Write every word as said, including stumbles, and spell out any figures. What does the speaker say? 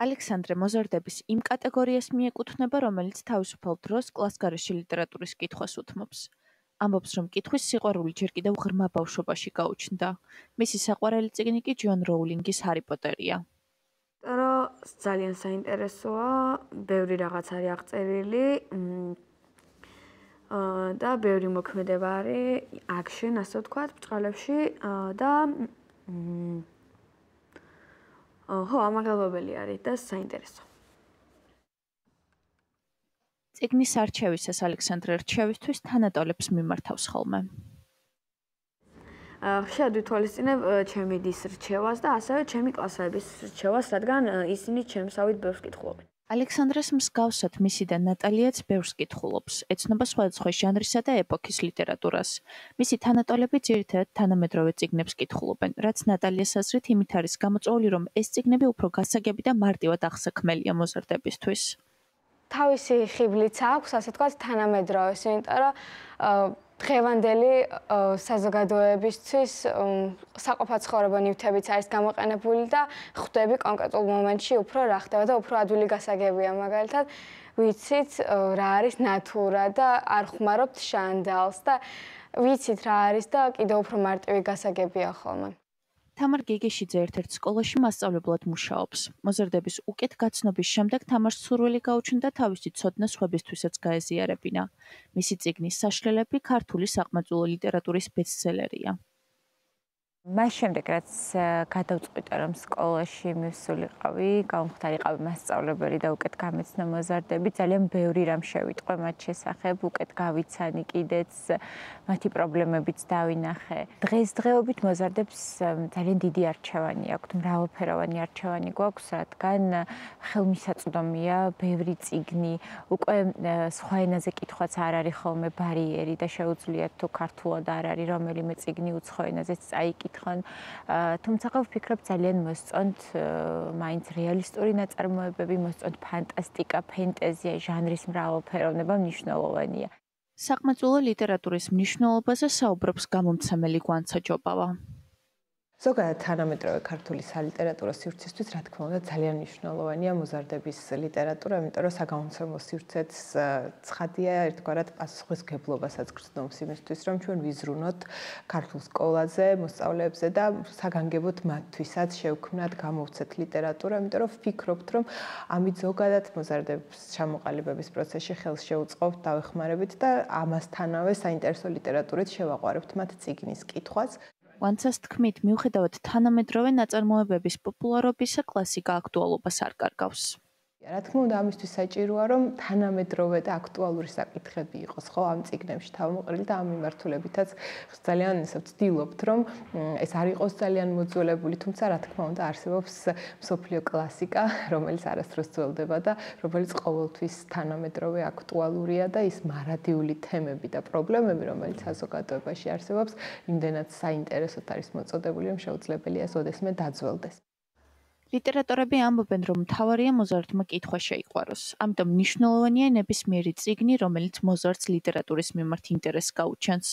ალექსანდრე მოზარდების იმ კატეგორიას მიეკუთვნება, რომელიც თავისუფალ დროს კლასგარეში ლიტერატურის კითხვას უთმობს. ამბობს, რომ კითხვის სიყვარული ჯერ კიდევ ღრმა ბავშვობაში გაუჩნდა. მისი საყვარელი წიგნი კი ჯონ როულინგის ჰარი პოტერია. რომ ძალიან საინტერესოა, ბევრი რაღაც არის აღწერილი და ბევრი მოქმედება არის აქშენ, ასე ვთქვათ, ბრჭყალებში და ხო, ამაღელვებელი არის და საინტერესო. წიგნის არჩევისას ალექსანდრე რჩევისთვის თანატოლებს მიმართავს ხოლმე. ხშირად ვითვალისწინებ ჩემი დის რჩევას და ასევე ჩემი კლასელების რჩევას, რადგან ისინი ჩემსავით ბევრს კითხულობენ. ალექსანდრეს მსგავსად მისი და ნატალიაც ბევრს კითხულობს, ეცნობა სხვადასხვა ჟანრისა და ეპოქის ლიტერატურას. მისი თანატოლები ძირითადად თანამედროვე წიგნებს კითხულობენ, რაც ნატალიას აზრით იმით არის გამოწვეული, რომ ეს წიგნები უფრო გასაგები და მარტივად აღსაქმელია მოზარდებისთვის. თავისი ხიბლიც აქვს, ასე ვთქვათ, თანამედროვეს, იმიტომ რომ დღევანდელი საზოგადოებისთვის საყოფაცხოვრებო ნივთებიც არის გამოყენებული და ხვდები კონკრეტულ მომენტში უფრო რა ხდება და უფრო ადვილი გასაგებია, მაგალითად, ვიცით რა არის ნატურა და არ ხმარობთ შანდალს და ვიცით რა არის და კიდევ უფრო მარტივი გასაგებია ხოლმე. თამარ გიგიშიძე ერთ-ერთ სკოლაში მასწავლებლად მუშაობს. მოზარდების უკეთ გაცნობის შემდეგ თამარს სურვილი გაუჩნდა თავისი ცოდნა სხვებისთვისაც გაეზიარებინა. მისი წიგნის საშლელები ქართული საყმაწვილო ლიტერატურის ბესტსელერია. მას შემდეგ, რაც გადავწყვიტე, რომ სკოლაში მივსულიყავი, გამხდარიყავი მასწავლებელი და უკეთ გამეცნო მოზარდები, ძალიან ბევრი რამ შევიტყვე მათ შესახებ, უკეთ გავიცანი კიდეც, მათი პრობლემებიც დავინახე. დღესდღეობით მოზარდებს ძალიან დიდი არჩევანი აქვთ, მრავალფეროვანი არჩევანი გვაქვს, რადგან ხელმისაწვდომია ბევრი წიგნი, უკვე სხვა ენაზე კითხვაც არ არის ხოლმე ბარიერი და შეუძლიათ თუ ქართულად არ არის რომელიმე წიგნი უცხო ენაზეც წაიკითხონ. თუმცა ვფიქრობ ძალიან მოსწონთ მაინც რეალისტური ნაწარმოებები, მოსწონთ ფანტასტიკა, ფენტეზია, ჟანრის მრავალფეროვნება მნიშვნელოვანია. საყმაწვილო ლიტერატურის მნიშვნელობაზე საუბრობს გამომცემელი გვანცა ჯობავა. ზოგადად თანამედროვე ქართული სალიტერატურო სივრცისთვის, რა თქმა უნდა, ძალიან მნიშვნელოვანია მოზარდების ლიტერატურა, იმიტომ რომ საგამომცემლო სივრცეც ცხადია, ერთგვარად პასუხისმგებლობასაც გრძნობს იმისთვის, რომ ჩვენ ვიზრუნოთ ქართულ სკოლაზე, მოსწავლეებზე და საგანგებოდ მათთვისაც შევქმნათ, გამოვცეთ ლიტერატურა, იმიტომ რომ ვფიქრობთ, რომ ამით ზოგადად მოზარდების ჩამოყალიბების პროცესში ხელს შევუწყობთ, დავეხმარებით და ამასთანავე საინტერესო ლიტერატურით შევაყვარებთ მათ წიგნის კითხვას. ვანცას თქმით, მიუხედავად თანამედროვე ნაწარმოებების პოპულარობისა, კლასიკა აქტუალობას არ კარგავს. რა თქმა უნდა, ამისთვის საჭიროა, რომ თანამედროვე და აქტუალური საკითხები იყოს, ხო, ამ წიგნებში თავმოყრილი და ამ მიმართულებითაც ძალიან ისე ვცდილობთ, რომ ეს არ იყოს ძალიან მოძველებული, თუმცა რა თქმა უნდა, არსებობს მსოფლიო კლასიკა, რომელიც არასდროს ძველდება და რომელიც ყოველთვის თანამედროვე აქტუალურია და ის მარადიული თემები და პრობლემები, რომელიც საზოგადოებაში არსებობს, იმდენად საინტერესოდ არის მოწოდებული, რომ შეუძლებელია ოდესმე დაძველდეს. ლიტერატორები ამბობენ, რომ მთავარია მოზარდმა კითხვა შეიყვაროს. ამიტომ მნიშვნელოვანია ნებისმიერი წიგნი, რომელიც მოზარდს ლიტერატურის მიმართ ინტერესს გაუჩენს.